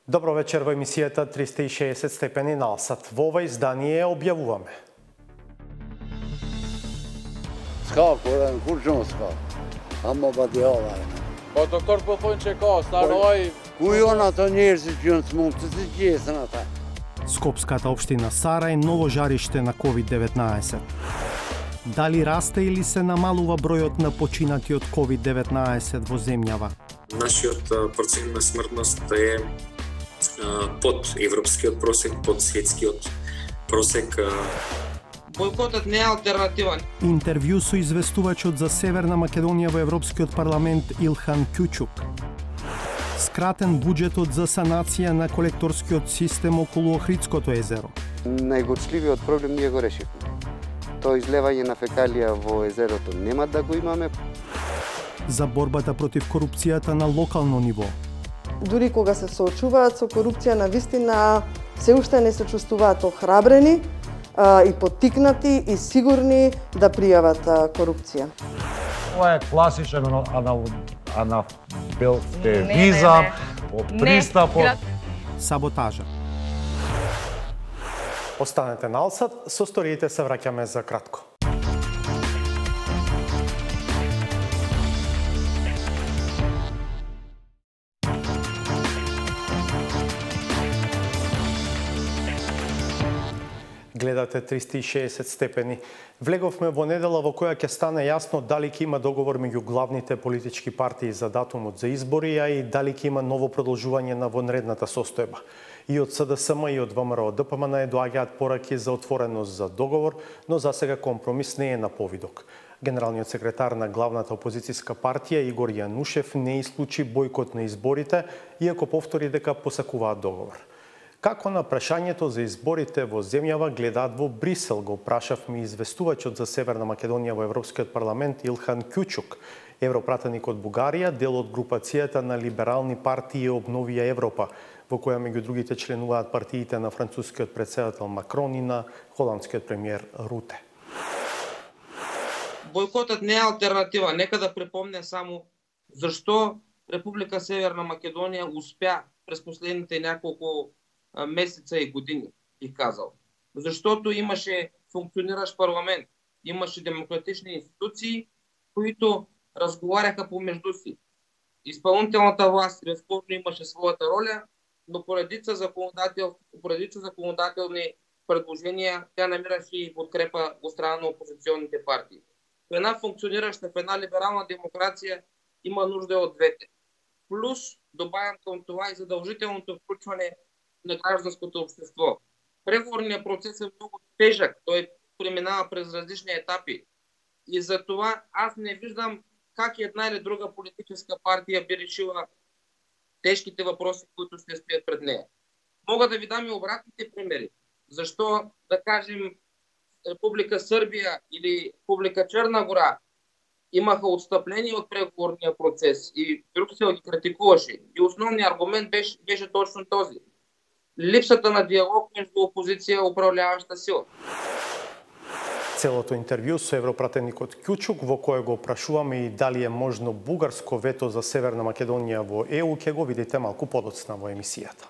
Добро вечер во емисијата 360 степени налсат. Во ова издание објавуваме. Skakaren kursjonska. Han mobbar till avvärlden. Po të kërë po thonë që ka, staroj... Ku janë ato njerëzit që janë smurtë të gjesën ata? Скопската општина Сарај ново жариште на COVID-19. Дали расте или се намалува бројот на починати од COVID-19 во земјава? Нашиот процент на смртност е под европскиот просек, под светскиот просек. Бойкотот не е алтернатива. Интервју со известувачот за Северна Македонија во Европскиот парламент Илхан Кјучук. Скратен буџетот за санација на колекторскиот систем околу Охридското езеро. Најгорчливиот проблем ние го решивме. Тоа излевање на фекалија во езерото нема да го имаме. За борбата против корупцијата на локално ниво. Дури кога се соочуваат со корупција, навистина се уште не се чувствуваат охрабрени и поттикнати и сигурни да пријават корупција. Ова е класичен анафилтевизам, пристапот. Саботажа. Останете налсат, со сториите се враќаме за кратко. Гледате 360 степени. Влеговме во недела во која ќе стане јасно дали ќе има договор меѓу главните политички партии за датумот за избори, а и дали ќе има ново продолжување на вонредната состојба. И од СДСМ и од ВМРО ДПМН доаѓаат пораки за отвореност за договор, но засега компромис не е на повидок. Генералниот секретар на главната опозицијска партија Игор Јанушев не исклучи бојкот на изборите, иако повтори дека посакуваат договор. Како на прашањето за изборите во земјава гледаат во Брисел, го прашавме известувачот за Северна Македонија во Европскиот парламент Илхан Кјучук, европратеник од Бугарија, дел од групацијата на либерални партии Обновија Европа, во која меѓу другите членуваат партиите на францускиот претседател Макрон и на холандскиот премиер Руте. Бойкотот не е алтернатива. Нека да припомня само зашто Република Северна Македонија успеа през последните няколку месеца и години, бих казал. Защото имаше функциониращ парламент, имаше демократични институции, които разговаряха помежду си. Изпълнителната власт безспорно имаше своята роля, но по редица законодателни предложения тя намираше и подкрепа от страна на опозиционните партии. В една функционираща, в една либерална демокрация има нужда от двете. Плюс добавям към това и задължителното включване на гражданското общество. Преговорният процес е много тежък, той преминава през различни етапи. И за това аз не виждам как една или друга политическа партия би решила тежките въпроси, които ще стоят пред нея. Мога да ви дам и обратните примери. Защо, да кажем, Република Сърбия или Република Черна гора имаха отстъпление от преговорния процес и Брюксел ги критикуваше. И основният аргумент беше точно този. Липсата на диалог между опозиција и управляваща сила. Целото интервју со европратеникот Кјучук, во кое го прашуваме и дали е можно бугарско вето за Северна Македонија во ЕУ, ќе го видите малку подоцна во емисијата.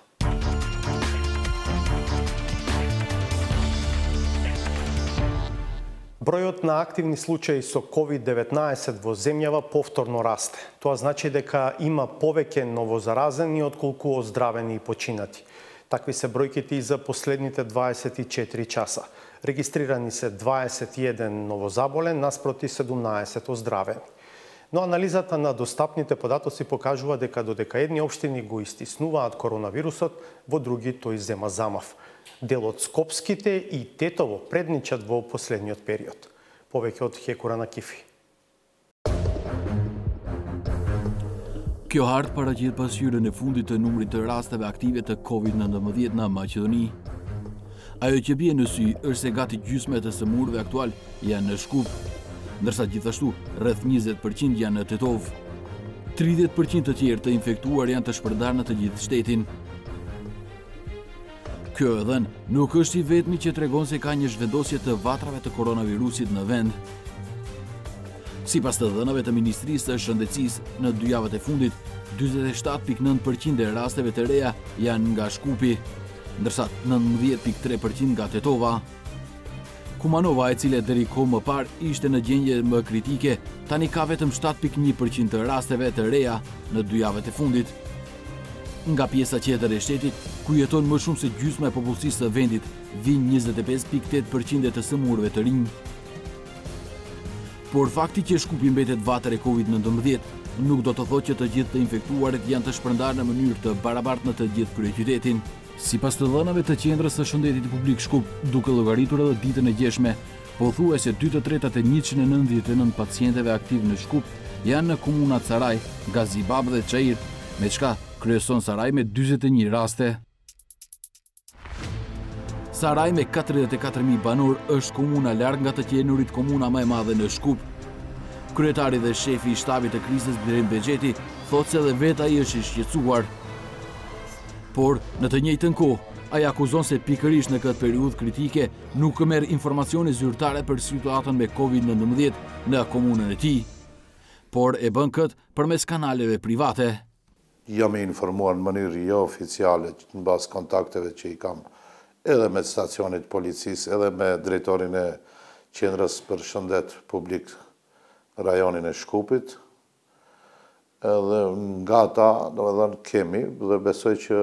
Бројот на активни случаи со COVID-19 во земјава повторно расте. Тоа значи дека има повеќе новозаразени отколку оздравени и починати. Такви се бројките и за последните 24 часа. Регистрирани се 21 новозаболен наспроти 17 оздравени. Но анализата на достапните податоци покажува дека додека едни општини го истиснуваат коронавирусот, во други тој зема замав. Дел од скопските и Тетово предничат во последниот период. Повеќе од Хекура на Кифи. Kjo hartë paraqit pasqyrën e fundit të numrit të rasteve aktive të COVID-19 në Maqedoni. Ajo që bie në sy është se gati gjysmë të sëmurëve aktual janë në Shkup, ndërsa gjithashtu rreth 20% janë në Tetov. 30% të tjerë të infektuar janë të shpërndarë në të gjithë shtetin. Kjo edhe nuk është i vetmi që tregon se ka një zhvendosje të vatrave të koronavirusit në vend. Sipas të dhënave të Ministrisë së Shëndetësisë, në 2 javët e fundit, 47.9% e rasteve të reja janë nga Shkupi, ndërsa 19.3% nga Tetova. Kumanova, e cila deri kohë më parë ishte në gjendje më kritike, tani ka vetëm 7.1% të rasteve të reja në 2 javët e fundit. Nga pjesa tjetër e shtetit, ku jeton më shumë se gjysma e popullsisë së vendit, vijnë 25.8% të sëmurëve të rinj. Por fakti që Shkupi mbetet vatër e Covid-19 nuk do të thotë që të gjithë të infektuarit janë të shpërndarë në mënyrë të barabartë në të gjithë kryeqytetin. Sipas të dhënave të qendrës së shëndetit publik Shkup, duke llogaritur edhe ditën e gjeshme, pothuajse 2/3 e 199 pacientëve aktiv në Shkup janë në komunat Saraj, Gazibab dhe Çair, me çka kryeson Saraj me 41 raste. Saraj me 44.000 banor është komuna larg nga të qenurit komuna më e madhe në Shkup. Kryetari dhe shefi i shtabit të krizës Birim Bexheti thotë se edhe vetë ai është i shqetësuar. Por në të njëjtën kohë, ai akuzon se pikërisht në këtë periudhë kritike nuk merr informacione zyrtare për situatën me Covid-19 në komunën e tij, por e bën këtë përmes kanaleve private. Jam i informuar në mënyrë jo oficiale në bazë kontakteve që i kam edhe me stacionit policisë, edhe me drejtorin e qendrës për shëndet publik rajonin e Shkupit. Edhe nga ta, kemi, dhe besoj që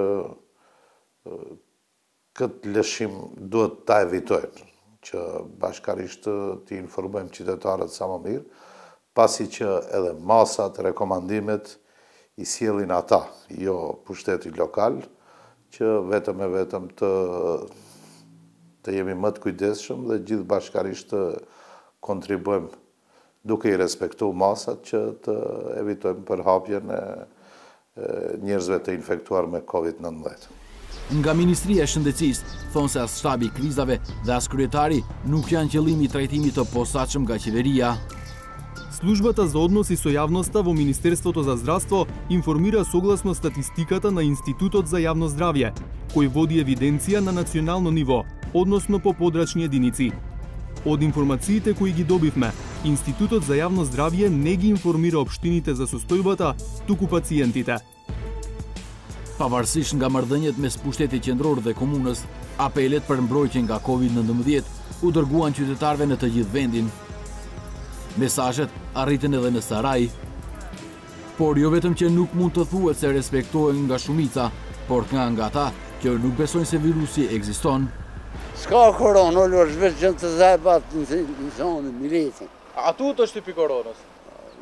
këtë lëshim duhet ta evitojnë, që bashkarisht t'i informojmë qytetarët sa më mirë, pasi që edhe masat, rekomandimet i sjellin ata, jo pushteti lokal, që vetëm e vetëm të jemi më të kujdesshëm dhe gjithë bashkarisht të kontribuojmë duke i respektu masat që të evitojmë përhapjen e njerëzve të infektuar me Covid-19. Nga Ministria e Shëndetësisë thonë se as shtabi i krizave dhe as kryetari nuk janë qëllimi i trajtimit të posaçëm nga qeveria. Службата за односи со јавноста во Министерството за здравство информира согласно статистиката на Институтот за јавно здравје, кој води евиденција на национално ниво, односно по подрачни единици. Од информациите кои ги добивме, Институтот за јавно здравје не ги информира општините за состојбата, туку пациентите. Pavarësisht nga marrëdhëniet mes pushtetit qendror dhe komunës, apelet për mbrojtje nga Covid-19 u dërguan qytetarëve në të gjithë vendin. Mesazhet arritën edhe në Saraj. Por jo vetëm që nuk mund të thuhet se respektohen nga shumica, por nga ata që nuk besojnë se virusi ekziston. S'ka koronë, olo është veç gjënë të zajbat në zonë, militin. A tu të shtypi koronës?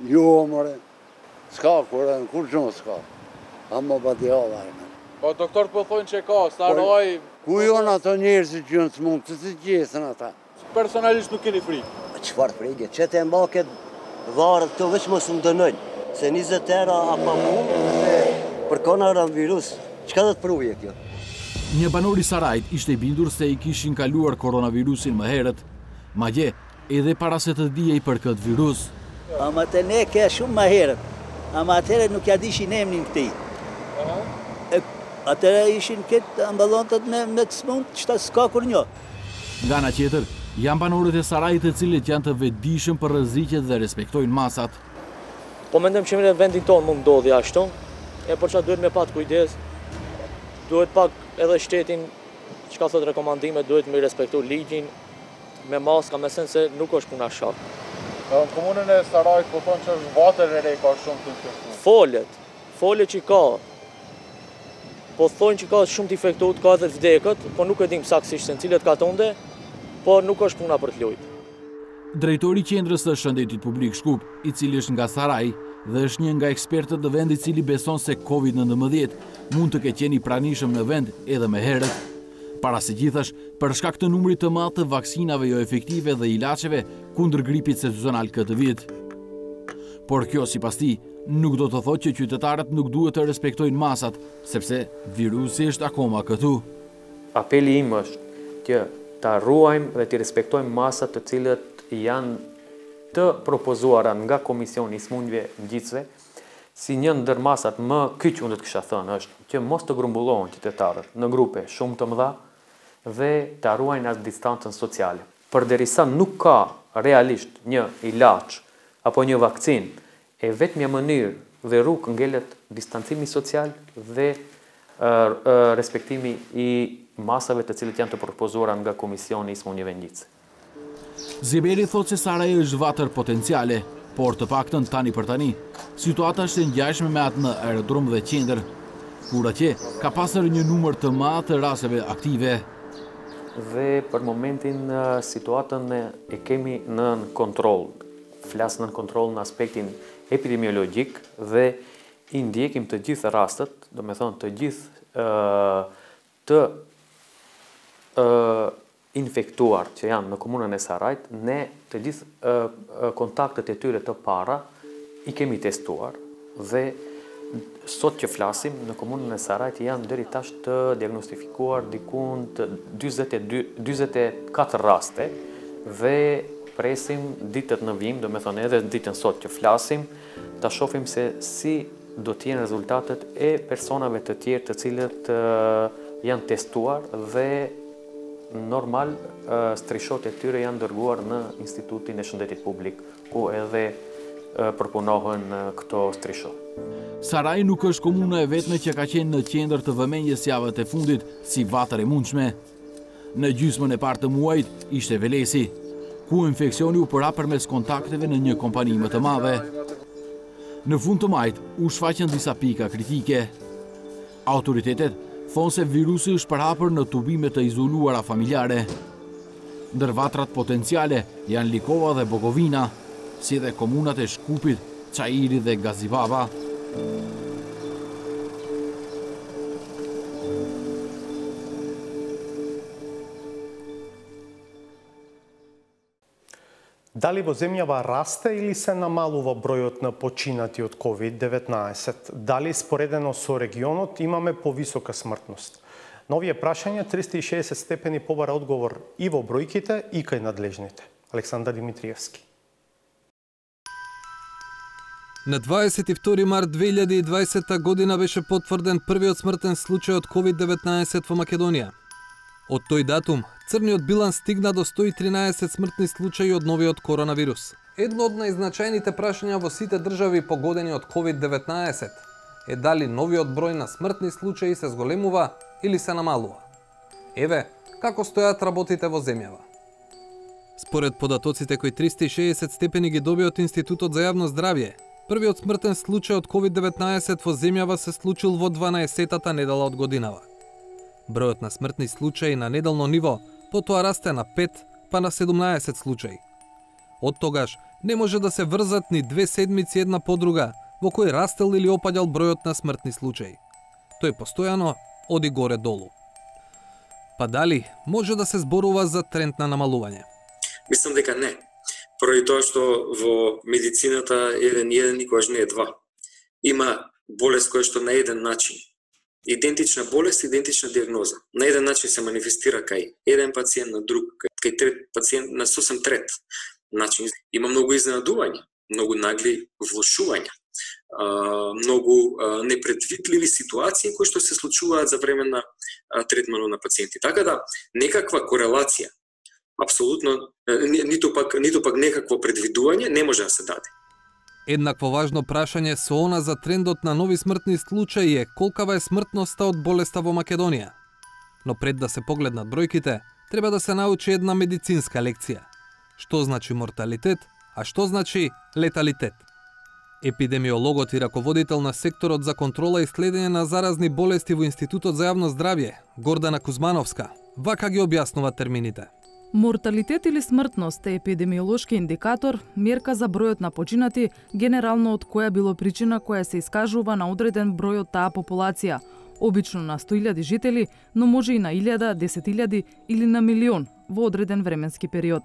Jo, more. S'ka koronë, kur gjumë s'ka. A më bati hala. Po doktor po thonë që ka, Saraj... Ku jonë ato njerëzit që në të mund të të gjesën ata? Personalisht nuk keni frikë? Qëfar frikë? Që të mbaket varët këto veç mos më dënojnë. Se 20 era apa mund dhe për koronavirus, çka do të pruje kjo? Një banor i Sarajit ishte i bindur se i kishin kaluar koronavirusin më herët, madje edhe para se të dijej për këtë virus. Ama të ne ke shumë më herët, ama atëre nuk ja dishin emrin këtij. Atëre ishin këtë amballontat me të smund, çta s'ka kur një. Nga ana tjetër, janë banorët e Sarajit të cilët janë të vetëdijshëm për rreziqet dhe respektojnë masat. Po mendojmë që në vendin tonë mund ndodhi ashtu, por çfarë duhet me pat kujdes. Duhet pak edhe shtetin, çka thot rekomandime, duhet me respektu ligjin, me maska, me sen se nuk është puna shak. Në komunën e Sarajit po thonë që është vatër e rej ka shumë të infektuar. Folet që ka, po thonë që ka shumë të infektuar, ka edhe vdekët, po nuk e dim saksisht se në cilët ka tonde, po nuk është puna për të lujtë. Drejtori i qendrës së shëndetit publik Shkup, i cili është nga Saraj dhe është një nga ekspertët të vendit i cili beson se Covid-19 mund të ketë qenë i pranishëm në vend edhe më herët. Para se gjithash, për shkak të numrit të madh të vaksinave jo efektive dhe ilaçeve kundër gripit sezonal këtë vit. Por kjo sipas tij nuk do të thotë që qytetarët nuk duhet të respektojnë masat, sepse virusi është akoma këtu. Apeli im është që ta ruajmë dhe të respektojmë masat të cilët janë të propozuara nga Komisioni i Smundjeve Ngjitësve, si një ndër masat më kyç unë të kisha thënë është që mos të grumbullohen qytetarët në grupe shumë të mëdha dhe ta ruajnë atë distancën sociale. Përderisa nuk ka realisht një ilaç apo një vakcinë, e vetmja mënyrë dhe rrugë ngelet distancimi social dhe respektimi i masave të cilët janë të propozuara nga Komisioni i Smunjeve Ngjitse. Zeberi thotë se Sarajevo është vatër potenciale, por të paktën tani për tani, situata është e ngjashme me atë në aerodrom dhe qendër, kur atje ka pasur një numër të madh të rasteve aktive. Dhe për momentin situatën e kemi nën kontroll. Flas nën kontroll në aspektin epidemiologjik dhe i ndjekim të gjithë rastet, do me thonë të gjithë të infektuar që janë në komunën e Sarajit, ne të gjithë kontaktet e tyre të para i kemi testuar dhe sot që flasim në komunën e Sarajit janë deri tash të diagnostifikuar dikun të 24 raste dhe presim ditët në vijim, do me thonë edhe ditën sot që flasim, ta shohim se si do të jenë rezultatet e personave të tjerë të cilët janë testuar dhe normal strishot e tyre janë dërguar në Institutin e Shëndetit Publik, ku edhe përpunohen këto strishot. Saraji nuk është komuna e vetme që ka qenë në qendër të vëmendjes javët e fundit si vatër e mundshme. Në gjysmën e parë të muajit ishte Velesi, ku infeksioni u përa përmes kontakteve në një kompani më të madhe. Në fund të majit u shfaqën disa pika kritike. Autoritetet thonë se virusi është përhapur në tubime të izoluara familjare. Ndër vatrat potenciale janë Likova dhe Bogovina, si dhe komunat e Shkupit, Çajiri dhe Gazibaba. Дали во земјава расте или се намалува бројот на починати од COVID-19? Дали споредено со регионот имаме повисока смртност? На овие прашања 360 степени побара одговор и во бројките и кај надлежните. Александар Димитриевски. На 22 март 2020 година беше потврден првиот смртен случај од COVID-19 во Македонија. Од тој датум, црниот биланс стигна до 113 смртни случаи од новиот коронавирус. Едно од најзначајните прашања во сите држави погодени од COVID-19 е дали новиот број на смртни случаи се зголемува или се намалува. Еве, како стојат работите во земјава. Според податоците кои 360 степени ги доби од Институтот за јавно здравје, првиот смртен случај од COVID-19 во земјава се случил во 12-тата недела од годинава. Бројот на смртни случаи на неделно ниво потоа расте на 5 па на 17 случаи. Од тогаш не може да се врзат ни 2 седмици една по друга во кој растел или опаѓал бројот на смртни случаи. Тој постојано оди горе-долу. Па дали може да се зборува за тренд на намалување? Мислам дека не. Поради тоа што во медицината еден никогаш не е два. Има болест која што на еден начин, идентична болест, идентична диагноза. На еден начин се манифестира кај еден пациент, на друг, кај трет пациент, на сосем трет начин. Има многу изненадувања, многу нагли влошувања, многу непредвидливи ситуации кои што се случуваат за време на третманот на пациенти. Така да, некаква корелација, апсолутно, ниту пак некакво предвидување не може да се даде. Еднакво важно прашање со она за трендот на нови смртни случаи е колкава е смртноста од болеста во Македонија. Но пред да се погледнат бројките, треба да се научи една медицинска лекција. Што значи морталитет, а што значи леталитет. Епидемиологот и раководител на секторот за контрола и следење на заразни болести во Институтот за јавно здравје, Гордана Кузмановска, вака ги објаснува термините. Морталитет или смртност е епидемиолошки индикатор, мерка за бројот на починати, генерално од која било причина која се искажува на одреден број од таа популација, обично на 100.000 жители, но може и на 1.000, 10.000 или на милион во одреден временски период.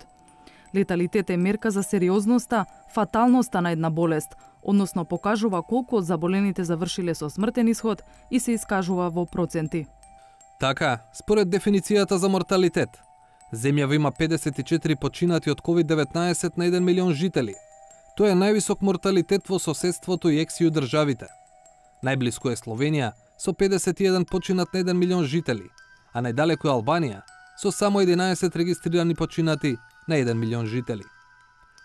Леталитет е мерка за сериозноста, фаталноста на една болест, односно покажува колку од заболените завршиле со смртен исход и се искажува во проценти. Така, според дефиницијата за морталитет, земјава има 54 починати од COVID-19 на 1 милион жители. Тоа е највисок морталитет во соседството и ексију државите. Најблиску е Словенија со 51 починат на 1 милион жители, а најдалеку е Албанија со само 11 регистрирани починати на 1 милион жители.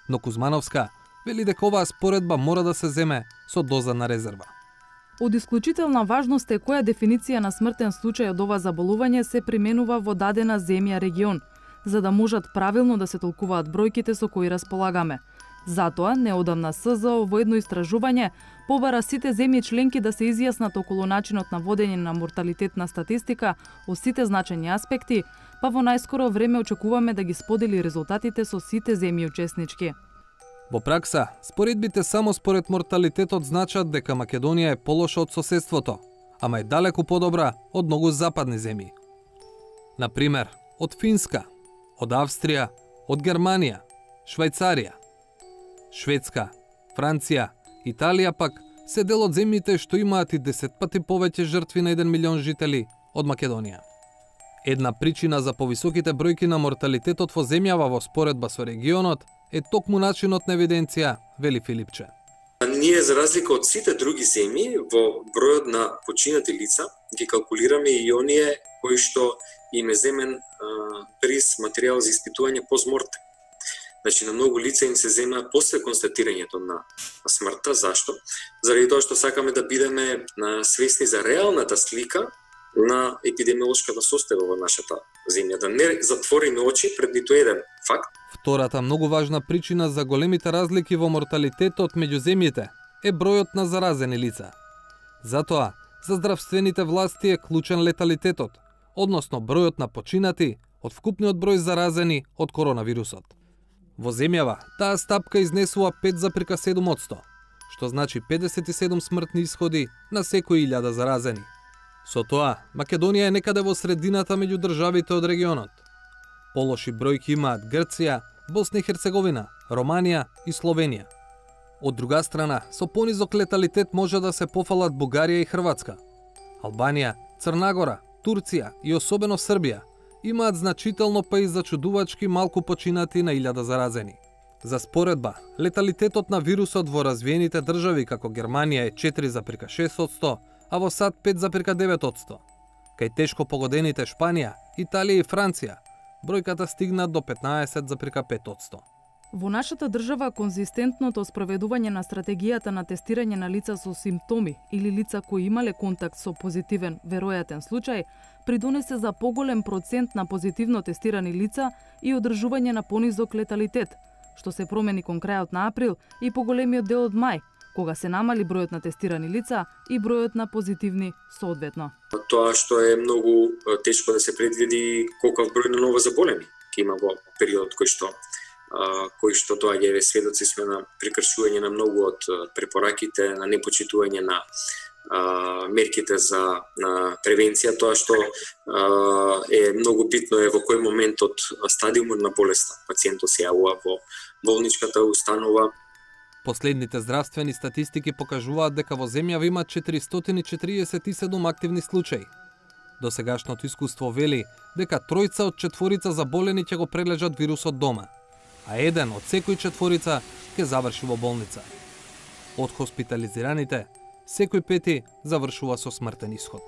Но Кузмановска вели дека оваа споредба мора да се земе со доза на резерва. Од исклучителна важност е која дефиниција на смртен случај од ова заболување се применува во дадена земја регион, за да можат правилно да се толкуваат бројките со кои располагаме. Затоа, неодамна СЗО во едно истражување побара сите земји членки да се изјаснат околу начинот на водење на морталитетна статистика од сите значени аспекти, па во најскоро време очекуваме да ги сподели резултатите со сите земји учеснички. Во пракса, споредбите само според морталитетот значат дека Македонија е полоша од соседството, ама е далеку подобра од многу западни земји. Например, од Финска, од Австрија, од Германија, Швајцарија, Шведска, Франција, Италија пак се дел од земјите што имаат и 10 пати повеќе жртви на 1 милион жители од Македонија. Една причина за повисоките бројки на морталитетот во земјава во споредба со регионот е токму начинот на евиденција, вели Филипче. Ние, за разлика од сите други земји, во бројот на починати лица, ги калкулираме и оние кои што им е земен бриз материјал за испитување постмортем. Значи, на многу лица им се зема после констатирањето на смртта. Зашто? Заради тоа што сакаме да бидеме свесни за реалната слика на епидемиолошката состојба во нашата земја, да не затвориме очи пред ниту еден факт. Втората многу важна причина за големите разлики во морталитетот меѓу земјите е бројот на заразени лица. Затоа, за здравствените власти е клучен леталитетот, односно бројот на починати од вкупниот број заразени од коронавирусот. Во земјава, таа стапка изнесува 5,7%, што значи 57 смртни исходи на секој 1000 заразени. Со тоа, Македонија е некаде во средината меѓу државите од регионот. Полоши бројки имаат Грција, Босна и Херцеговина, Романија и Словенија. Од друга страна, со понизок леталитет може да се пофалат Бугарија и Хрватска. Албанија, Црнагора, Турција и особено Србија имаат значително па и зачудувачки малку починати на 1000 заразени. За споредба, леталитетот на вирусот во развиените држави како Германија е 4,6%, а во САД 5,9%. Кај тешко погодените Шпанија, Италија и Франција, бројката стигна до 15,5%. Во нашата држава конзистентното спроведување на стратегијата на тестирање на лица со симптоми или лица кои имале контакт со позитивен веројатен случај придонесе за поголем процент на позитивно тестирани лица и одржување на понизок леталитет, што се промени кон крајот на април и поголемиот дел од мај, кога се намали бројот на тестирани лица и бројот на позитивни соодветно. Тоа што е многу тешко да се предвиди колков број на ново заболени ќе има во период кој што доаѓа, еве сведоци сме на прекршување на многу од препораките, на непочитување на мерките за превенција, тоа што е многу битно е во кој момент од стадиумот на болеста пациентот се јавува во болничката установа. Последните здравствени статистики покажуваат дека во земјава има 447 активни случаи. Досегашното искуство вели дека 3 од 4 заболени ќе го прележат вирусот дома, а 1 од секој 4 ќе заврши во болница. Од хоспитализираните, секој 5 завршува со смртен исход.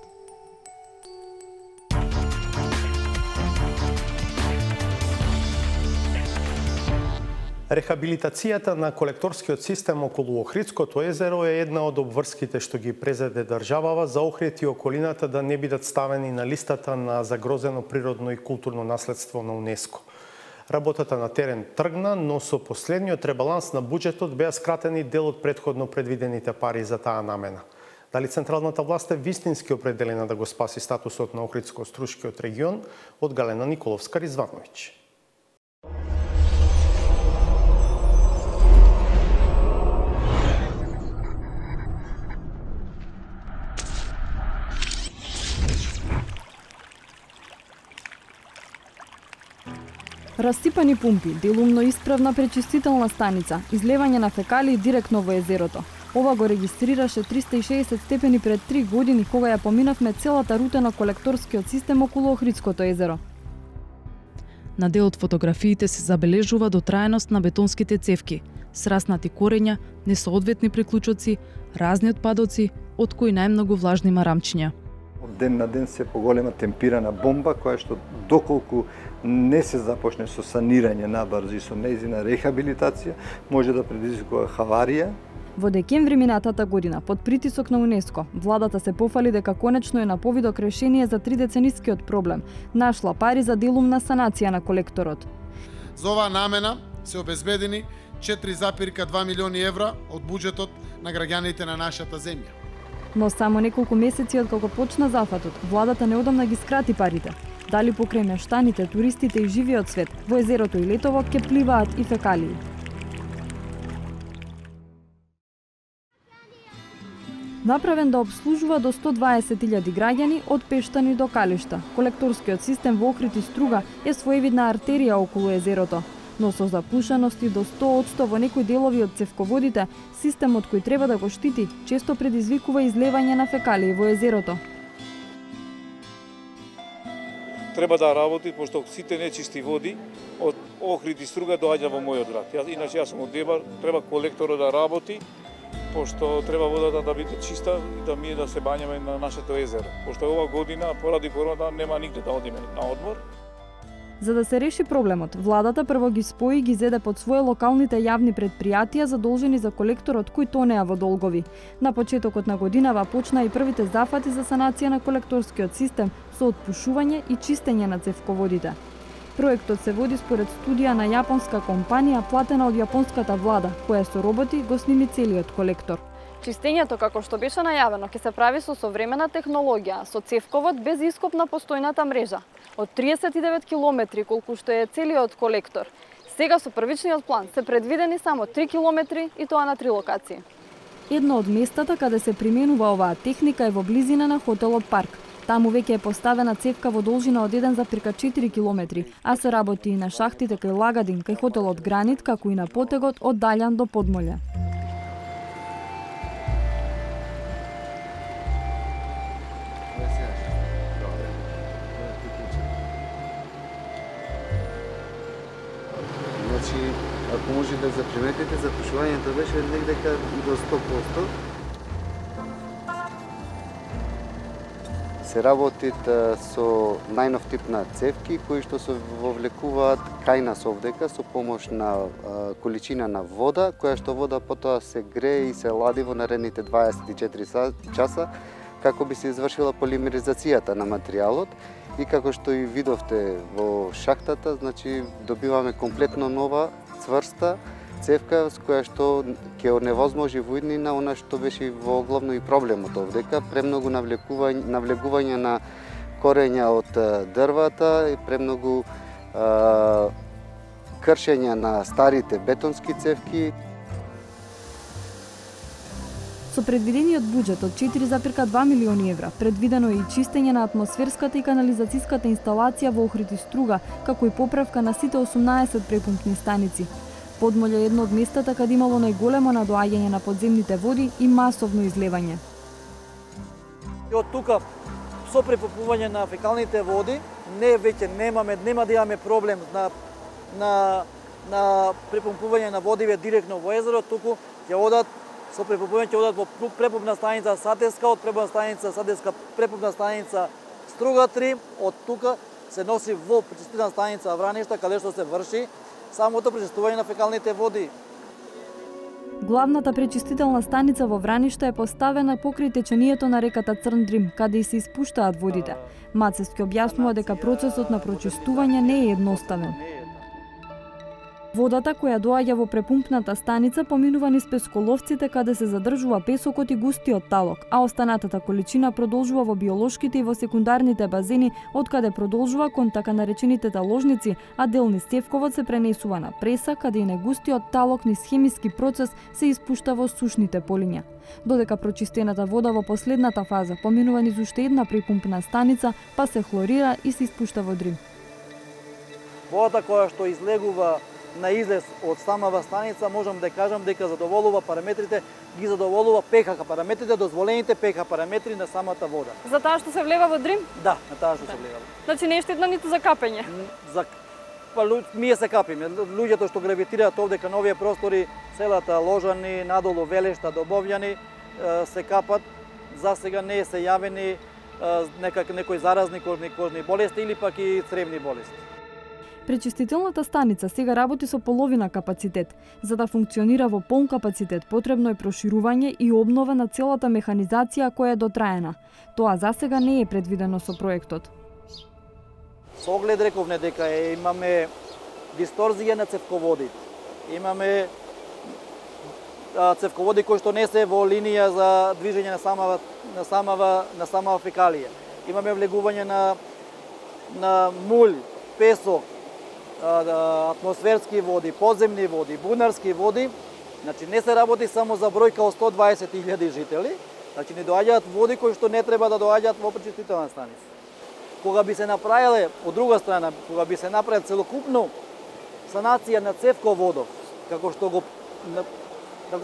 Рехабилитацијата на колекторскиот систем околу Охридското езеро е една од обврските што ги презеде државава за Охрид и околината да не бидат ставени на листата на загрозено природно и културно наследство на УНЕСКО. Работата на терен тргна, но со последниот ребаланс на буџетот беа скратени дел од претходно предвидените пари за таа намена. Дали централната власт е вистински определена да го спаси статусот на Охридско-Струшкиот регион, од Галена Николовска-Ризвановиќ. Расипани пумпи, делумно исправна пречистителна станица, излевање на фекалии директно во езерото. Ова го регистрираше 360 степени пред 3 години кога ја поминавме целата рута на колекторскиот систем околу Охридското езеро. На дел од фотографиите се забележува дотраеност на бетонските цевки, сраснати корења, несоодветни приклучоци, разни отпадоци, од кои најмногу влажни марамчиња. ден на ден се поголема темпирана бомба, која што доколку не се започне со санирање набрзо и со нејзина рехабилитација, може да предизвикува хаварија. Во декември минатата година, под притисок на УНЕСКО, владата се пофали дека конечно е на повидок решение за 3-деценискиот проблем. Нашла пари за делумна санација на колекторот. За оваа намена се обезбедени 4,2 милиони евра од буџетот на граѓаните на нашата земја. Но само неколку месеци откако почна зафатот, владата неодамна ги скрати парите. Дали покрај мештаните, туристите и живиот свет, во езерото и летово ке пливаат и фекалии. Направен да обслужува до 120.000 граѓани од Пештани до Калишта, колекторскиот систем во Охрид и Струга е своевидна артерија околу езерото. Но со запушености до 100% во некои делови од цевководите, системот кој треба да го штити често предизвикува излевање на фекалии во езерото. Треба да работи, пошто сите нечисти води од Охрид и Струга доаѓа во мојот град. Иначе јас сум од Дебар, треба колекторот да работи, пошто треба водата да биде чиста и да ние да се бањаме на нашето езеро. Пошто ова година, поради корона, нема нигде да одиме на одмор. За да се реши проблемот, владата прво ги спои и ги зеде под своје локалните јавни предпријатија задолжени за колекторот кој тонеа во долгови. На почетокот на годинава почна и првите зафати за санација на колекторскиот систем со отпушување и чистење на цевководите. Проектот се води според студија на јапонска компанија платена од јапонската влада, која со роботи го сними целиот колектор. Чистењето, како што беше најавено, ќе се прави со современа технологија, со цевковод без ископ на постојната мрежа. Од 39 километри, колку што е целиот колектор. Сега со првичниот план се предвидени само 3 километри и тоа на 3 локации. Едно од местата каде се применува оваа техника е во близина на хотелот Парк. Таму веќе е поставена цевка во должина од 1,4 километри, а се работи и на шахтите кај Лагадин, кај хотелот Гранит, како и на потегот од Далјан до Подмоле. Ако може да заприметите, запушувањето беше негдека до 100%. Се работит со најнов тип на цевки кои што се вовлекуваат кај нас овдека со помош на количина на вода, која што вода потоа се грее и се лади во наредните 24 часа како би се извршила полимеризацијата на материјалот. И како што и видовте во шахтата, значи добиваме комплетно нова цврста цевка с која што ќе оневозможи во иднина она што беше во главно и проблемот овдека, премногу навлегување на корења од дрвата и премногу кршење на старите бетонски цевки. Со предвидениот буџет од 4,2 милиони евра, предвидено е и чистење на атмосферската и канализацијската инсталација во Охрид и Струга, како и поправка на сите 18 препумпни станици. Подмоле е едно од местата каде имало најголемо надоаѓање на подземните води и масовно излевање. И од тука со препумпување на фекалните води, нема да имаме проблем на препумпување на водиве директно во езеро, туку ќе одат со препумпување ќе одат во препумпна станица Сатеска, од препумпна станица Сатеска препумпна станица Струга 3, од тука се носи во пречистителна станица Враништа, каде што се врши самото пречистување на фекалните води. Главната пречистителна станица во Враништа е поставена покрај течението на реката Црн Дрим, каде и се испуштаат водите. Мацевски објаснува дека процесот на прочистување не е едноставен. Водата која доаѓа во препумпната станица поминува низ песколовците каде се задржува песокот и густиот талок, а останатата количина продолжува во биолошките и во секундарните базени, од каде продолжува кон така наречените таложници, а дел низ цевковот се пренесува на преса, каде и негустиот талок низ хемиски процес се испушта во сушните полиња. Додека прочистената вода во последната фаза поминува низ уште една препумпна станица, па се хлорира и се испушта во Дрим. Водата која што излегува на излез од самава станица, можам да кажам дека задоволува параметрите, ги задоволува ПХ параметрите, дозволените ПХ параметри на самата вода. За таа што се влева во Дрим? Да, на таа што се влева. Значи не е штетно ниту за капење? Ние се капиме. Луѓето што гравитираат овдека на овие простори, селата Ложани, надолу Велешта, Добовјани, се капат. За сега не се јавени некои заразни кожни болести или пак и цревни болести. Пречистителната станица сега работи со половина капацитет. За да функционира во полн капацитет, потребно е проширување и обнова на целата механизација која е дотраена. Тоа засега не е предвидено со проектот. Со оглед рековне дека имаме дисторзија на цевководите. Имаме цевководи кои што не се во линија за движење на самава фекалија. Имаме влегување на мулј, песок, атмосферски води, подземни води, бунарски води. Значи не се работи само за бројка од 120.000 жители, значи не доаѓаат води кои што не треба да доаѓаат во пречистителна станица. Кога би се направиле, од друга страна, кога би се направи целокупно санација на цевководов, како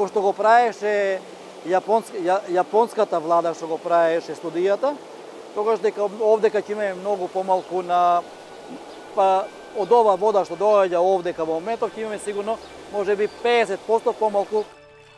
што го правеше јапонската влада, што го правеше студијата, тогаш дека овдека ќе имаме многу помалку од ова вода што доаѓа овдека во моментов, ќе имаме сигурно можеби 50% помалку.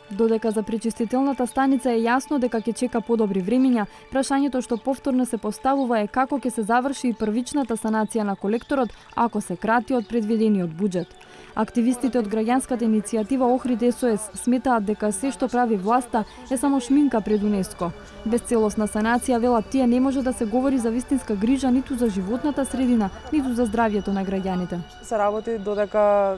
Додека за пречистителната станица е јасно дека ќе чека подобри времиња, прашањето што повторно се поставува е како ќе се заврши и првичната санација на колекторот ако се крати од предвидениот буџет. Активистите од граѓанската иницијатива Охрид СОС сметаат дека се што прави власта е само шминка пред УНЕСКО. Без целосна санација, велат тие, не може да се говори за вистинска грижа ниту за животната средина, ниту за здравјето на граѓаните. Се работи додека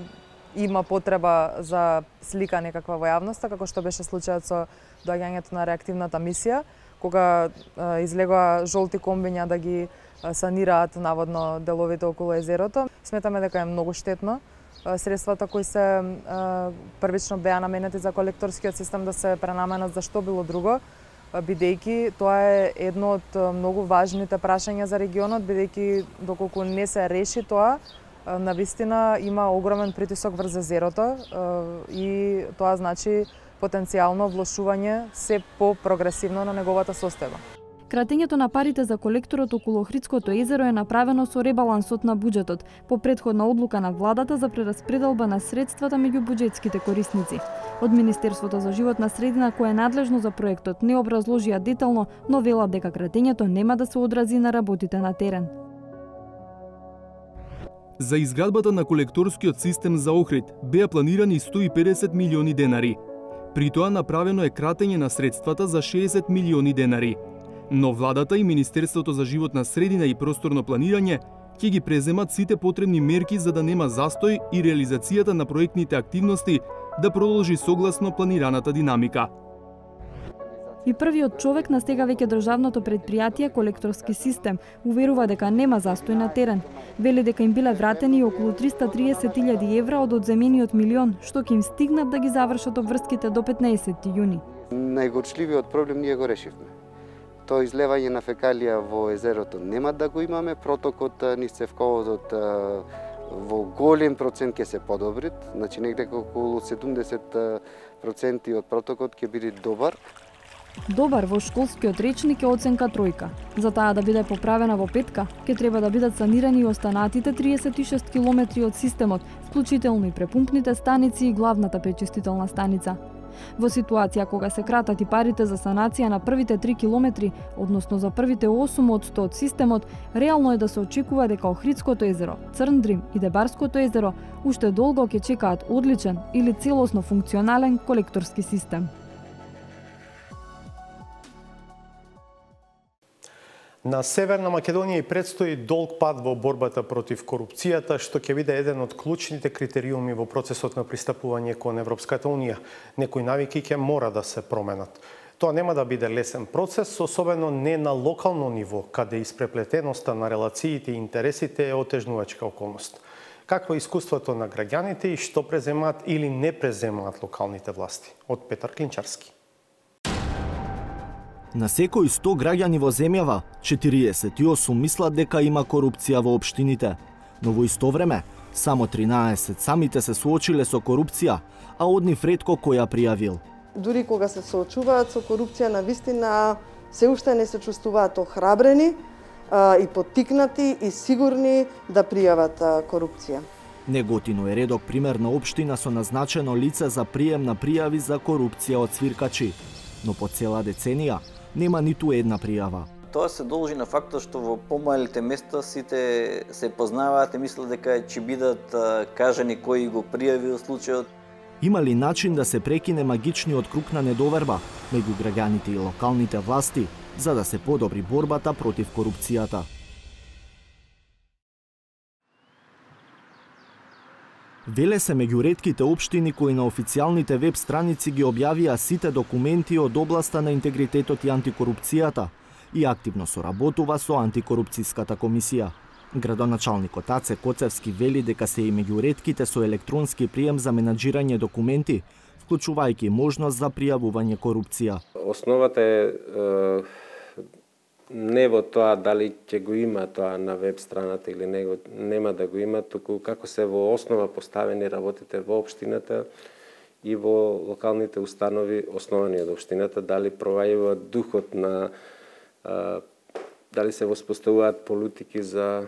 има потреба за слика некаква во јавноста, како што беше случајот со доаѓањето на реактивната мисија, кога излегоа жолти комбиња да ги санираат наводно деловите околу езерото. Сметаме дека е многу штетно средствата кои се првично беа наменети за колекторскиот систем да се пренаменат за што било друго, бидејќи тоа е едно од многу важните прашања за регионот, бидејќи доколку не се реши тоа, навистина има огромен притисок врз езерото и тоа значи потенцијално влошување се по-прогресивно на неговата состојба. Кратењето на парите за колекторот околу Охридското езеро е направено со ребалансот на буџетот, по претходна одлука на владата за прераспределба на средствата меѓу буџетските корисници. Од Министерството за животна средина, кое е надлежно за проектот, не образложија детално, но велат дека кратењето нема да се одрази на работите на терен. За изградбата на колекторскиот систем за Охрид беа планирани 150 милиони денари. При тоа направено е кратење на средствата за 60 милиони денари. Но владата и Министерството за животна средина и просторно планирање ќе ги преземат сите потребни мерки за да нема застој и реализацијата на проектните активности да продолжи согласно планираната динамика. И првиот човек на сега веќе државното предпријатие Колекторски систем уверува дека нема застој на терен. Вели дека им биле вратени околу 330.000 евра од одземениот милион, што ќе им стигнат да ги завршат обврските до 15 јуни. Најгорчливиот проблем ние го решивме. Тоа излевање на фекалија во езерото нема да го имаме, протокот низ цевководот во голем процент ќе се подобри, значи негде околу 70% од протокот ќе биде добар. Добар во школскиот речник е оценка тројка. За таа да биде поправена во петка, ќе треба да бидат санирани и останатите 36 километри од системот, вклучително и препумпните станици и главната пречистителна станица. Во ситуација кога се кратат и парите за санација на првите 3 километри, односно за првите 8 од 100 од системот, реално е да се очекува дека Охридското езеро, Црн Дрим и Дебарското езеро уште долго ќе чекаат одличен или целосно функционален колекторски систем. На Северна Македонија и предстои долг пат во борбата против корупцијата, што ќе биде еден од клучните критериуми во процесот на пристапување кон Европската Унија. Некои навики ќе мора да се променат. Тоа нема да биде лесен процес, особено не на локално ниво, каде испреплетеноста на релациите и интересите е отежнувачка околност. Какво е искуството на граѓаните и што преземаат или не преземаат локалните власти? Од Петар Клинчарски. На секој 100 граѓани во земјава, 48 мислат дека има корупција во општините, но во исто време, само 13 самите се соочиле со корупција, а од нив ретко кој ја пријавил. Дури кога се соочуваат со корупција, навистина се уште не се чувствуваат охрабрени и поттикнати и сигурни да пријават корупција. Неготино е редок пример на општина со назначено лице за прием на пријави за корупција од свиркачи, но по цела деценија нема ниту една пријава. Тоа се должи на фактот што во помалите места сите се познаваат и мислат дека ќе бидат кажани кој го пријавил случајот. Има ли начин да се прекине магичниот круг на недоверба меѓу граѓаните и локалните власти за да се подобри борбата против корупцијата? Велес се меѓу ретките општини кои на официјалните веб страници ги објавија сите документи од областа на интегритетот и антикорупцијата и активно соработува со антикорупцијската комисија. Градоначалникот Аце Коцевски вели дека се и меѓу ретките со електронски прием за менаџирање документи, вклучувајќи можност за пријавување корупција. Основата е не во тоа дали ќе го има тоа на веб страната или нема да го има, туку како се во основа поставени работите во општината и во локалните установи основани од општината, дали провајува духот на дали се воспоставуваат политики за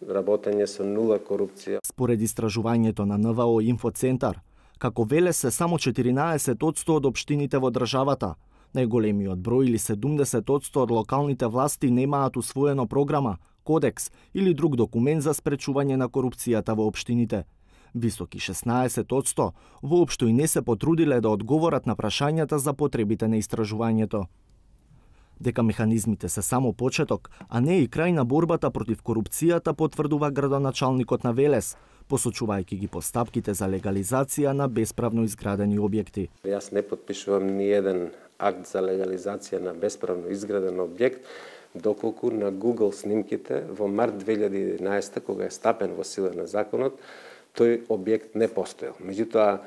работење со нула корупција. Според истражувањето на НВО Инфоцентар, како веле се само 14% од општините во државата, најголемиот број или 70% од локалните власти немаат усвоено програма, кодекс или друг документ за спречување на корупцијата во општините. Високи 16% воопшто и не се потрудиле да одговорат на прашањата за потребите на истражувањето. Дека механизмите се само почеток, а не и крај на борбата против корупцијата, потврдува градоначалникот на Велес, посочувајќи ги постапките за легализација на бесправно изградени објекти. Јас не подпишувам ни еден акт за легализација на бесправно изграден објект, доколку на Google снимките во март 2011, кога е стапен во сила на законот, тој објект не постоел. Меѓутоа,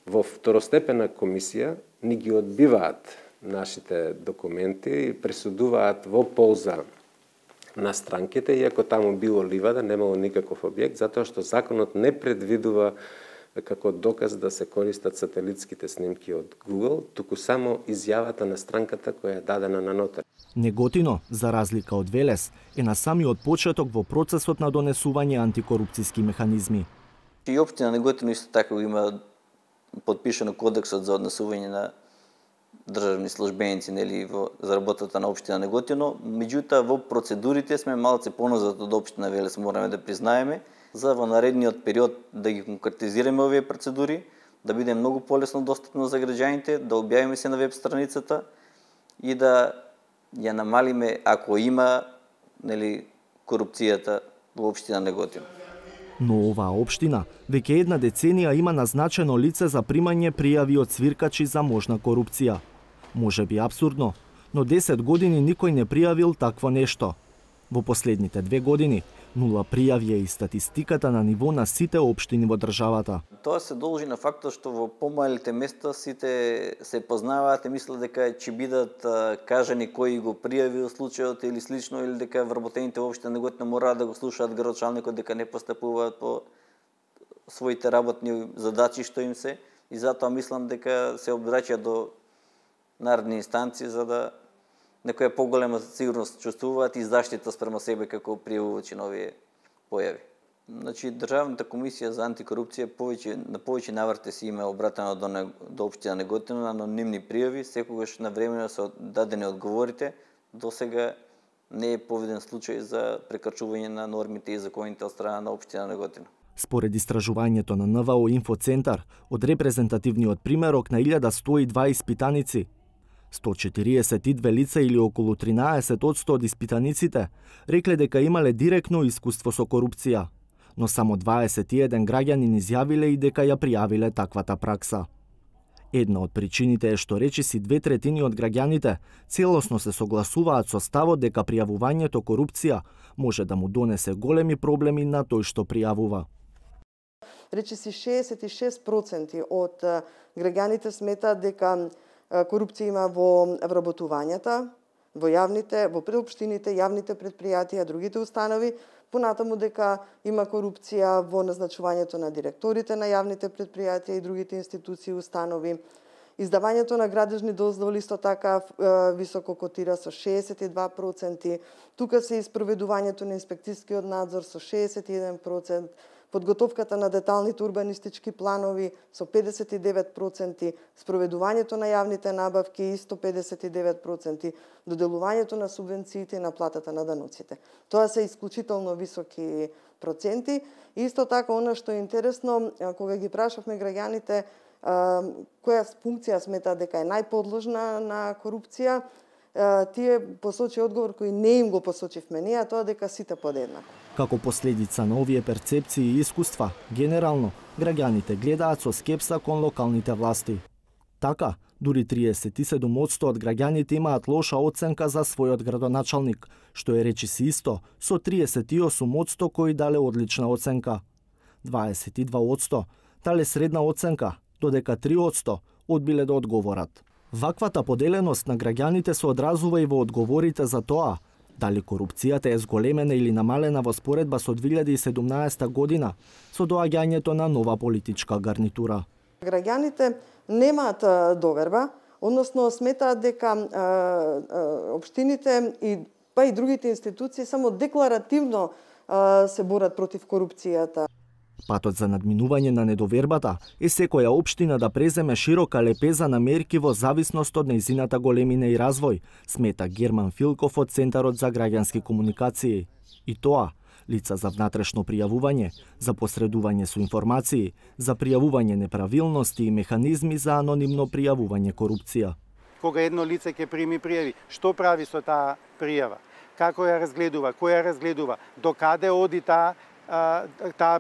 во второстепена комисија ни ги одбиваат нашите документи и пресудуваат во полза на странките, иако таму било ливада, немало никаков објект, затоа што законот не предвидува како доказ да се користат сателитските снимки од Google, туку само изјавата на странката која е дадена на нотар. Неготино, за разлика од Велес, е на самиот почеток во процесот на донесување антикорупцијски механизми. И општина Неготино исто така има подпишано кодексот за однесување на државни службеници за работата на општина Неготино, меѓутоа во процедурите сме малце поназад од општина Велес, мораме да признаеме, за во наредниот период да ги конкретизираме овие процедури, да биде многу полесно достапно за граѓаните, да објавиме се на веб страницата и да ја намалиме ако има корупцијата во општина Неготино. Но оваа општина веќе една деценија има назначено лице за примање пријави од свиркачи за можна корупција. Може би апсурдно, но 10 години никој не пријавил такво нешто. Во последните 2 години нула пријави е и статистиката на ниво на сите општини во државата. Тоа се должи на фактот што во помалите места сите се познаваат и мислат дека ќе бидат кажани кој го пријавил случајот или слично, или дека вработените во општина Неготино мораат да го слушаат градоначалникот дека не постапуваат по своите работни задачи што им се, и затоа мислам дека се обраќа до наредни инстанции за да некоја поголема сигурност чувствуваат и заштита спрема себе како пријавувачи на овие појави. Значи, Државната комисија за антикорупција на повеќе наврати си има обратено до општина Неготино на анонимни пријави, секогаш навремено се дадени одговорите. До сега не е поведен случај за прекршување на нормите и законите од страна на општина Неготино. Според истражувањето на НВО Инфоцентар, од репрезентативниот примерок на 1102 испитаници, 142 лица или околу 13% од испитаниците рекле дека имале директно искуство со корупција, но само 21 граѓани изјавиле и дека ја пријавиле таквата пракса. Една од причините е што речиси 2/3 од граѓаните целосно се согласуваат со ставот дека пријавувањето корупција може да му донесе големи проблеми на тој што пријавува. Речиси 66% од граѓаните сметаат дека корупција има во вработувањата, во јавните, во преопштините, јавните предпријатија, другите установи, понатаму дека има корупција во назначувањето на директорите на јавните предпријатија и другите институции и установи. Издавањето на градежни дозволи исто така високо котира со 62%. Тука се испроведувањето на инспекцијскиот надзор со 61%, подготовката на деталните урбанистички планови со 59%, спроведувањето на јавните набавки исто 59%, доделувањето на субвенциите и на платата на даноците. Тоа се исклучително високи проценти. Исто така, она што е интересно, кога ги прашавме граѓаните која функција смета дека е најподложна на корупција, тие посочи одговор кој не им го посочивме ние, а тоа дека сите подеднако. Како последица на овие перцепции и искуства, генерално, граѓаните гледаат со скепса кон локалните власти. Така, дури 37% од граѓаните имаат лоша оценка за својот градоначалник, што е речиси исто со 38% кои дале одлична оценка. 22% дале средна оценка, додека 3% одбиле да одговорат. Ваквата поделеност на граѓаните се одразува и во одговорите за тоа дали корупцијата е зголемена или намалена во споредба со 2017 година со доаѓањето на нова политичка гарнитура. Граѓаните немаат доверба, односно сметаат дека општините и другите институции само декларативно се борат против корупцијата. Патот за надминување на недовербата е секоја општина да преземе широка лепеза на мерки во зависност од нејзината големина и развој, смета Герман Филков од Центарот за граѓански комуникации. И тоа, лица за внатрешно пријавување, за посредување со информации, за пријавување неправилности и механизми за анонимно пријавување корупција. Кога едно лице ќе прими пријави, што прави со таа пријава? Како ја разгледува, која разгледува, докаде оди таа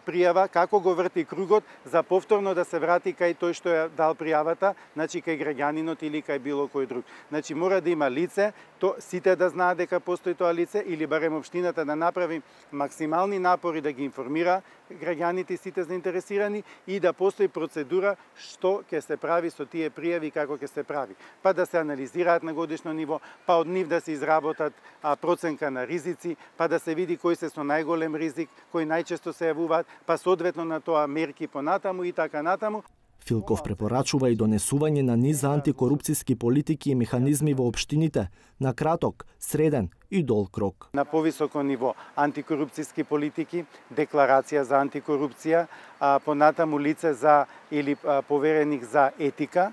пријава, како го врти кругот за повторно да се врати кај тој што ја дал пријавата, значи кај граѓанинот или кај било кој друг. Значи мора да има лице, сите да знаат дека постои тоа лице или барем општината да направи максимални напори да ги информира граѓаните и сите заинтересирани и да постои процедура што ќе се прави со тие пријави и како ќе се прави. Па да се анализираат на годишно ниво, па од нив да се изработат проценка на ризици, па да се види кои се со најголем ризик, кои најчесто се јавуваат, па соодветно на тоа мерки понатаму и така натаму. Филков препорачува и донесување на низ за антикорупцијски политики и механизми во општините на краток, среден и долг рок. На повисоко ниво антикорупцијски политики, декларација за антикорупција, понатаму лице за или повереник за етика,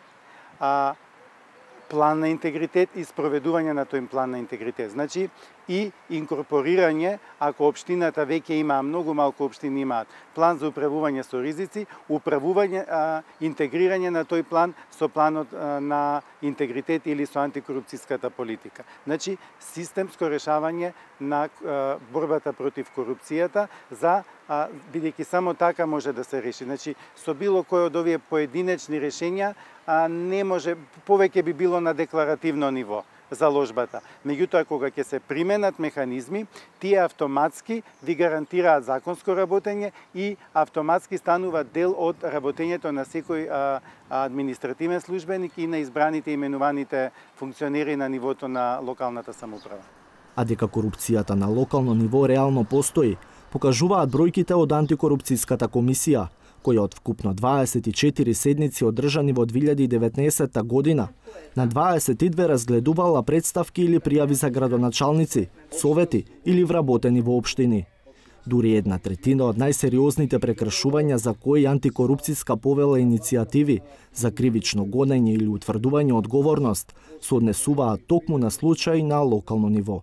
план на интегритет и спроведување на тој план на интегритет. Значи и инкорпорирање, ако општината веќе има, многу малку општини имаат план за управување со ризици, интегрирање на тој план со планот на интегритет или со антикорупцијската политика. Значи системско решавање на борбата против корупцијата за бидејќи само така може да се реши. Значи со било кој од овие поединечни решења не може, повеќе би било на декларативно ниво заложбата. Меѓутоа, кога ќе се применат механизми, тие автоматски ви гарантираат законско работење и автоматски станува дел од работењето на секој административен службеник и на избраните и именуваните функционери на нивото на локалната самоуправа. А дека корупцијата на локално ниво реално постои, покажуваат бројките од антикорупцијската комисија, која од вкупно 24 седници одржани во 2019 година, на 22 разгледувала представки или пријави за градоначалници, совети или вработени во општини. Дури 1/3 од најсериозните прекршувања за кои антикорупцијска повела иницијативи за кривично гонење или утврдување одговорност се однесуваат токму на случаи на локално ниво.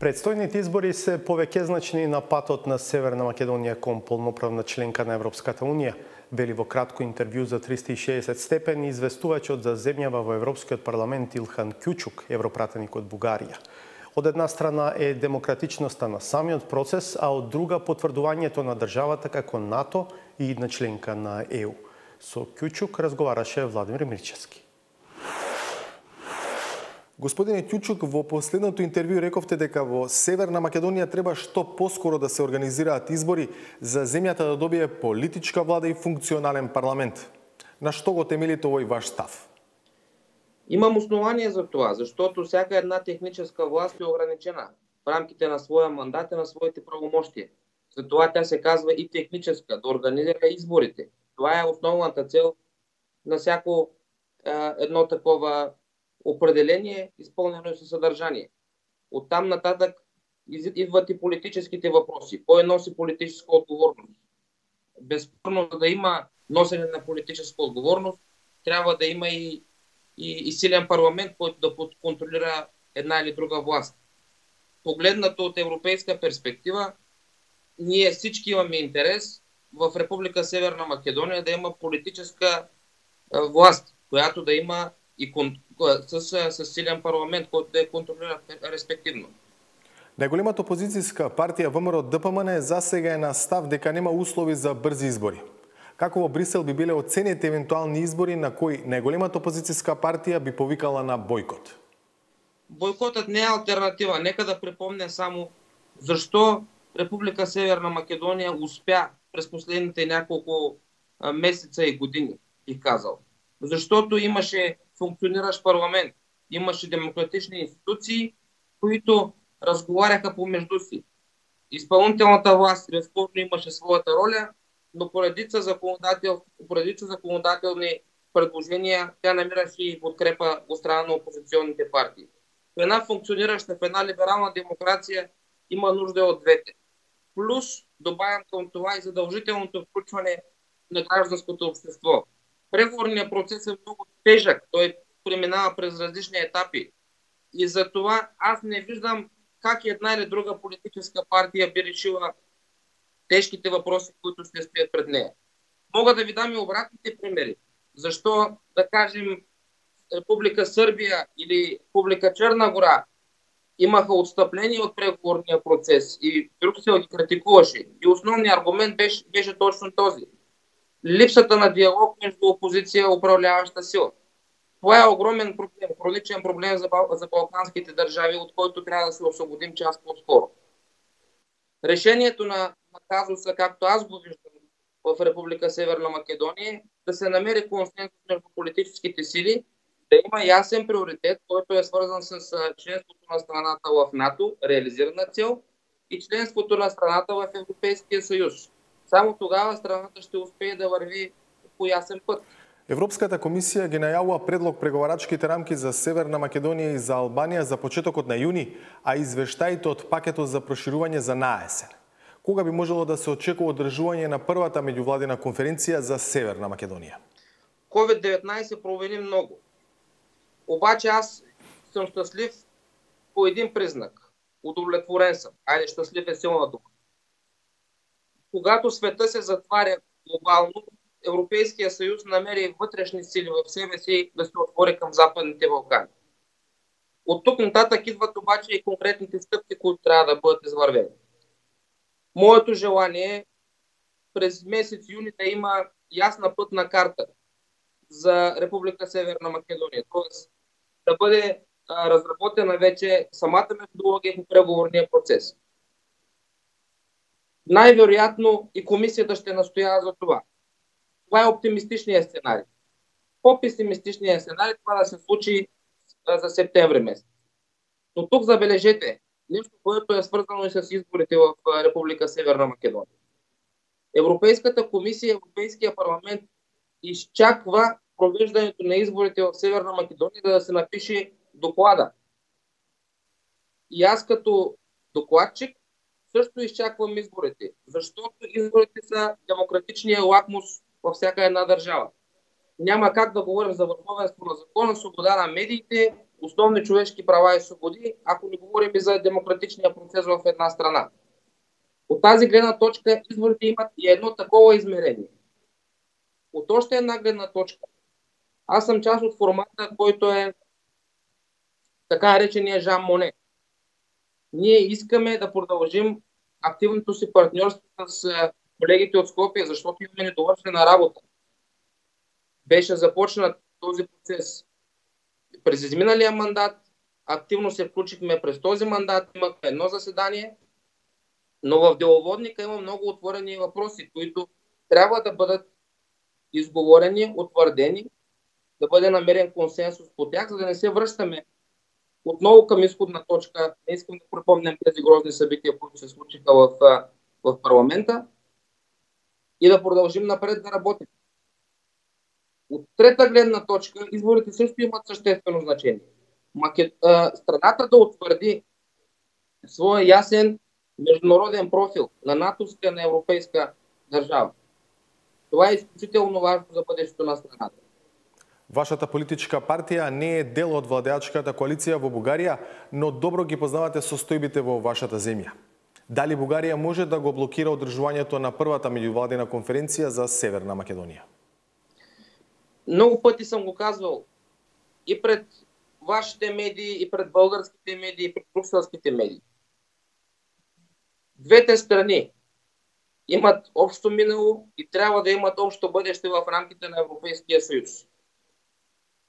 Предстојните избори се повеќезначни на патот на Северна Македонија кон полноправна членка на Европската Унија, вели во кратко интервју за 360 степени известувачот за земјава во Европскиот парламент Илхан Кјучук, европратеник од Бугарија. Од една страна е демократичноста на самиот процес, а од друга потврдувањето на државата како НАТО и на членка на ЕУ. Со Кјучук разговараше Владимир Мирчевски. Господине Кјучук, во последното интервју рековте дека во Северна Македонија треба што поскоро да се организираат избори за земјата да добие политичка влада и функционален парламент. На што го темелите овој ваш став? Имам основание за тоа, заштото всяка една техничка власт е ограничена в рамките на своја мандат и на своите правомоштија. Затоа тя се казва и техничка, да организира изборите. Това е основната цел на всяко едно такова определение, исполнено със съдържание. Оттам нататък идват и политическите въпроси. Кой носи политическа отговорност? Безспорно, за да има носене на политическа отговорност, трябва да има и силен парламент, който да контролира една или друга власт. Погледнато от европейска перспектива, ние всички имаме интерес в Република Северна Македония да има политическа власт, която да има и с силен парламент, който да я контролира респективно. Најголемата опозицијска партија ВМРО ДПМН засега е на став дека нема услови за брзи избори. Како во Брисел би биле оценети евентуални избори на кои најголемата опозицијска партија би повикала на бойкот? Бойкотът не е алтернатива. Нека да припомня само защо Република Северна Македония успя през последните няколко месеца и години, бих казал. Защото имаше функциониращ парламент, имаше демократични институции, които разговаряха помежду си. Изпълнителната власт безспорно имаше своята роля, но по редица законодателни предложения тя намираше и подкрепа от страна на опозиционните партии. В една функционираща, в една либерална демокрация има нужда от двете. Плюс добавям към това и задължителното включване на гражданското общество. Преговорният процес е много тежък, той преминава през различни етапи. И за това аз не виждам как една или друга политическа партия би решила тежките въпроси, които ще стоят пред нея. Мога да ви дам и обратните примери. Защо, да кажем, Република Сърбия или Република Черна гора имаха отстъпление от преговорния процес и Брюксел ги критикуваше. И основният аргумент беше точно този. Липсата на диалог между опозиция и управляваща сила. Това е огромен проблем, хроничен проблем за балканските държави, от който трябва да се освободим час по-скоро. Решението на казуса, както аз го виждам в Република Северна Македония, да се намери консенсус между политическите сили, да има ясен приоритет, който е свързан с членството на страната в НАТО, реализирана цел, и членството на страната в Европейския съюз. Само тогава страната ще успее да върви по ясен път. Европската комисија ги најавува предлог преговарачките рамки за Северна Македонија и за Албанија за почетокот на јуни, а извештаите од пакетот за проширување за наесен. Кога би можело да се очекува одржување на првата меѓувладина конференција за Северна Македонија? COVID-19 промени много. Обаче аз съм щастлив по един признак. Удовлетворен съм. Айде, щастлив е силна дума. Когато света се затваря глобално, Европейския съюз намери вътрешни сили в себе си да се отвори към Западните Балкани. От тук нататък идват обаче и конкретните стъпки, които трябва да бъдат извървени. Моето желание е през месец юни да има ясна пътна карта за Република Северна Македония. Тоест да бъде разработена вече самата методология по преговорния процес. Най-вероятно и комисията ще настоява за това. Това е оптимистичният сценарий. По-песимистичният сценарий това да се случи за септември месец. Но тук забележете нещо, което е свързано и с изборите в Република Северна Македония. Европейската комисия, Европейския парламент изчаква провеждането на изборите в Северна Македония да се напише доклада. И аз като докладчик също изчаквам изборите, защото изборите са демократичния лакмус във всяка една държава. Няма как да говорим за върховенство на закона, свобода на медиите, основни човешки права и свободи, ако не говорим и за демократичния процес в една страна. От тази гледна точка изборите имат и едно такова измерение. От още една гледна точка, аз съм част от формата, който е така наречения Жан Моне. Ние искаме да продължим активното си партньорство с колегите от Скопие, защото имаме недовършена работа. Беше започнат този процес през изминалия мандат, активно се включихме през този мандат, имахме едно заседание, но в деловодника има много отворени въпроси, които трябва да бъдат изговорени, утвърдени, да бъде намерен консенсус по тях, за да не се връщаме отново към изходна точка. Не искам да припомням тези грозни събития, които се случиха в парламента, и да продължим напред да работим. Од трета гледна точка, изборите също имат съществено значение. Страната да утвърди своя ясен международен профил на натовска, на европейска държава. Това е изключително важно за бъдещето на страната. Вашата политичка партија не е дел од владеачката коалиција во Бугарија, но добро ги познавате состојбите во вашата земја. Дали Бугарија може да го блокира одржувањето на првата меѓувладина конференција за Северна Македонија? Много пъти съм го казвал и пред вашите медии, и пред българските медии, и пред брюкселските медии. Двете страни имат общо минало и трябва да имат общо бъдеще в рамките на Европейския съюз.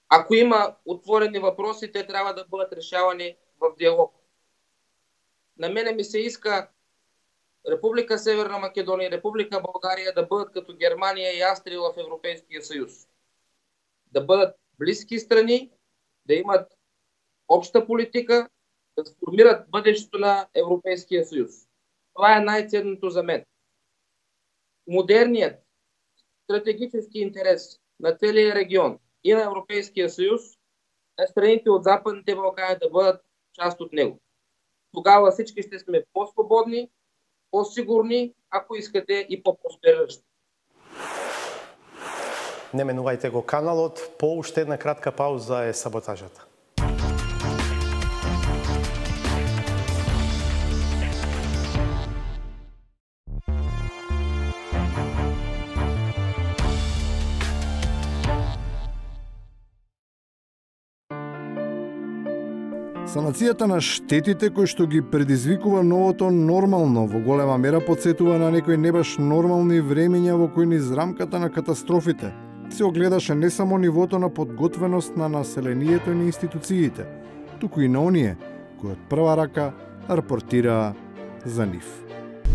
Ако има отворени въпроси, те трябва да бъдат решавани в диалог. На мене ми се иска Република Северна Македония и Република България да бъдат като Германия и Австрия в Европейския съюз. Да бъдат близки страни, да имат обща политика, да сформират бъдещето на Европейския съюз. Това е най-ценното за мен. Модерният стратегически интерес на целия регион и на Европейския съюз е страните от Западните Балкани да бъдат част от него. Тогава всички ще сме по-свободни, по-сигурни, ако искате и по-проспериращи. Не менувајте го каналот, по уште една кратка пауза е саботажата. Санацијата на штетите кои што ги предизвикува новото нормално во голема мера подсетува на некои небаш нормални времења во кои низ рамката на катастрофите се огледаше не само нивото на подготвеност на населението и на институциите, туку и на оние кои од прва рака рапортираа за нив.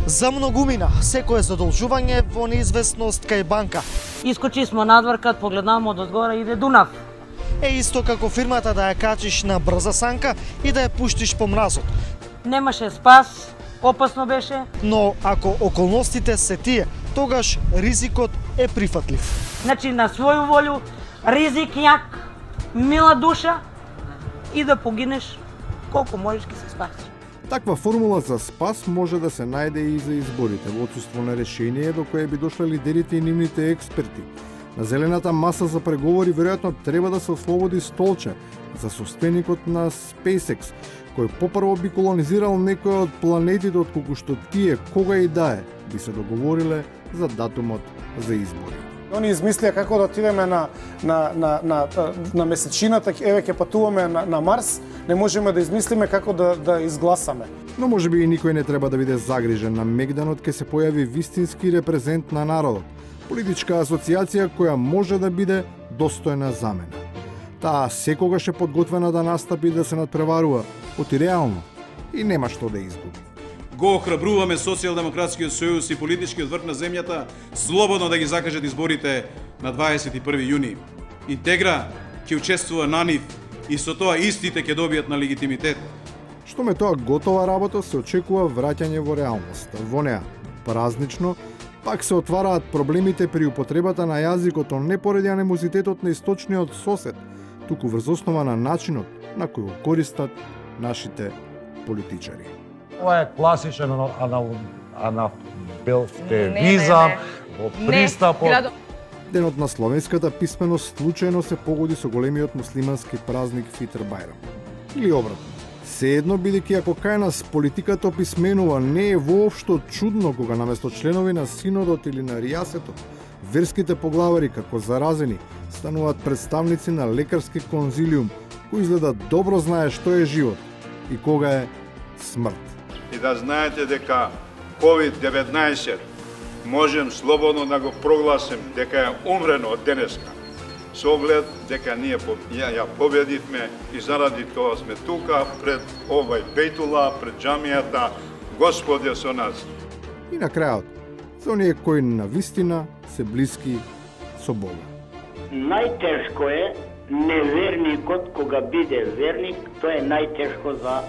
За многумина, секое задолжување во неизвестност кај банка. Искочи смо надвор, кад погледнам од одгоре иде Дунав. Е исто како фирмата да ја качиш на брза санка и да ја пуштиш по мразот. Немаше спас, опасно беше. Но ако околностите се тие, тогаш ризикот е прифатлив. Значи на своју волю, ризик јак, мила душа и да погинеш колку можеш ки се спаси. Таква формула за спас може да се најде и за изборите, во отсуство на решение до кое би дошле лидерите и нивните експерти. На зелената маса за преговори веројатно треба да се ослободи столче за состојникот на SpaceX, кој попрво би колонизирал некој од планетите отколку што тие, кога и да е, би се договориле за датумот за избори. Они измислија како да отидеме на месечината, еве ќе патуваме на Марс, не можеме да измислиме како да изгласаме. Но можеби и никој не треба да биде загрижен. На мегданот ќе се појави вистински репрезент на народот. Политичка асоциација која може да биде достојна замена. Таа секогаш е подготвена да настапи да се надпреварува, оти реално, и нема што да изгуби. Го охрабруваме Социјалдемократскиот сојуз и политичкиот врв на земјата слободно да ги закажат изборите на 21 јуни. Интегра ќе учествува на нив и со тоа истите ќе добијат на легитимитет. Што ме тоа готова работа, се очекува враќање во реалноста. Во неа, празнично, пак се отвараат проблемите при употребата на јазикот, не поради анимозитетот на источниот сосед, туку врз основа на начинот на кој го користат нашите политичари. Ова е класичен анафилтевизам во пристапот. Денот на словенската писменост случајно се погоди со големиот муслимански празник Фитр Бајрам. Или обратно. Sejedno, бидејќи ако кај нас политиката описменува, не е воопшто чудно кога наместо членови на Синодот или на Ријасетот, верските поглавари како заразени стануваат представници на лекарски конзилиум, кој изгледа добро знае што е живот и кога е смрт. И да знаете дека COVID-19 можем слободно да го прогласим дека е умрено од денеска. Со оглед дека ние ја победивме и заради тоа сме тука пред овај Бейтула, пред џамијата, Господ е со нас. И на крајот, за оние кои на вистина се блиски со Бога. Најтешко е неверникот кога биде верник, тоа е најтешко за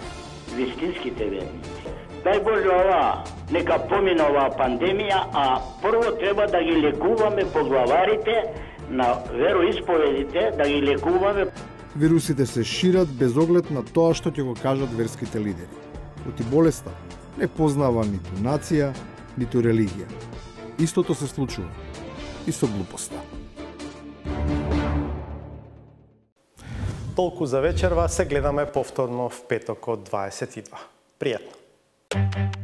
вистинските верници. Дај Боже ова, нека помине оваа пандемија, а прво треба да ги лекуваме поглаварите, на вероисповедите, да ги лекуваме. Вирусите се шират без оглед на тоа што ќе го кажат верските лидери. Оти болеста не познава ниту нација, ниту религија. Истото се случува и со глупоста. Толку за вечерва, се гледаме повторно в петок од 22. Пријатно!